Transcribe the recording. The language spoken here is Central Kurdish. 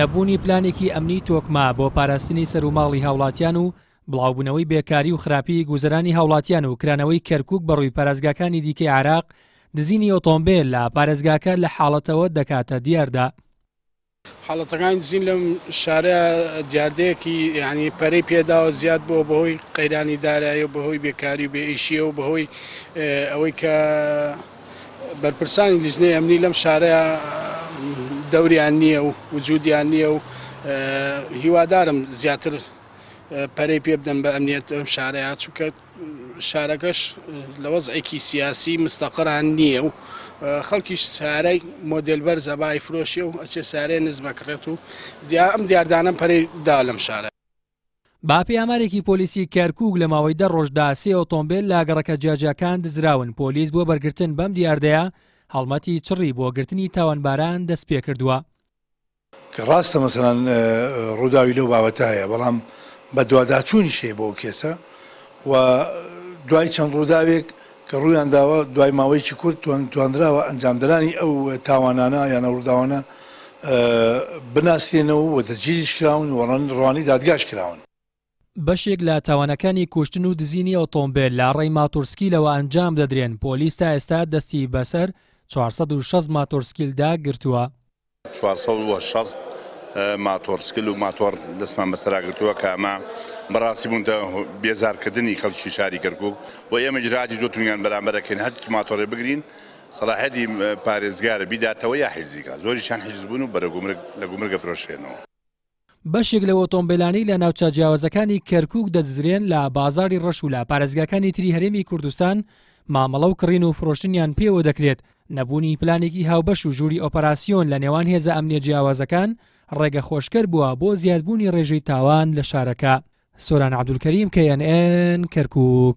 نەبوونی پلانێکی ئەمنی تۆکمە بۆ پاراستنی سەروماڵی هاوڵاتیان و بڵاوبوونەوەی بێکاری و خراپی گوزەرانی هاوڵاتیان و کرانەوەی کەرکوک بەڕووی پارێزگاکانی دیکەی عێراق، دزینی ئۆتۆمبێل لە پارێزگاکە لە حاڵەتەوە دەکاتە دیاردە. حاڵەتەکانی دزین لەم شارە دیاردەیەکی یانی پەرەی پێداوە زیاد بووە بەهۆی قەیرانی دارایی و بەهۆی بێکاری و بێئیشیە و بەهۆی ئەوەی کە بەرپرسانی لیژنەی ئەمنی لەم شارە دەوریان نییە و وجودیان نییە و هیوادارم زیاتر پەرەی پێ بدەن بە ئەمنیەت ئەم شارەیە چونکە شارەکەش لە وەزعێکی سیاسی مستەقڕان نییە و خەڵکیش سارای مۆدێل بەرزە با ئەیفرۆشێ و ئەچێ سارەی نزم ئەکڕێت و ئەم دیاردانە پەرەی دا لەم شارە. بەپێی ئامارێکی پۆلیسی کەرکوک لە ماوەی دە ڕۆژدا سێ ئۆتۆمبێل لە گەڕەکە جیاجیاکان دزراون، پۆلیس بۆ بەرگرتن بەم دیاردەیە هەڵمەتی چڕی بۆ گرتنی تاوانباران دەستپێکردووە. کە ڕاستە مەسەلەن ڕووداوی لەو بابەتە هەیە بەڵام بەدواداچوونیش هەیە بۆ ئەو کێسە و دوای چەند ڕووداوێک کە ڕوویان داوە دوای ماوەیەکی کورت توانراوە ئەنجامدەرانی ئەو تاوانانە یان ئەو ڕووداوانە بناسرێنەوە و دەستگیریش کراون و ڕەوانەی دادگاش کراون. بەشێک لە تاوانەکانی کوشتن و دزینی ئۆتۆمبێل لە ڕێی ماتۆرسکیلەوە ئەنجام دەدرێن، پۆلیس تا ئێستا دەستی بەسەر 460 ماتۆرسکیلدا گرتووە. 460 ماتۆرسکل و ماتۆڕ دەستمان بەسەرا گرتووە کە ئەمە بەڕاستی بوونتە بێزارکردنی خەڵکی شاری کەرکوک و ئێمە ئیجرائاتی زۆر توندیان بەرامبەر ئەکەین هەر ماتۆڕێ بگرین سەڵاحیەتی پارێزگارە بیداتەوە یا حیزی کا زۆریشیان حیز بوون و بەرە گومرگ لە گومرگ ئەفرۆشرێنەوە. بەشێک لەو ئۆتۆمبێلانەی لە ناوچە جیاوازەکانی کەرکوک دەدزرێن لە بازاڕی ڕەش و لە پارێزگاکانی تری هەرێمی کوردستان مامەڵە و کڕین و فرۆشتنیان پێوە دەکرێت، نەبوونی پلانێکی هاوبەش و ژووری ئۆپەراسیۆن لە نێوان هێزە ئەمنیە جیاوازەکان ڕێگەخۆشکەر بووە بۆ زیادبوونی ڕێژەی تاوان لە شارەکە. سۆران عەبدولکەریم، KNN، کەرکوک.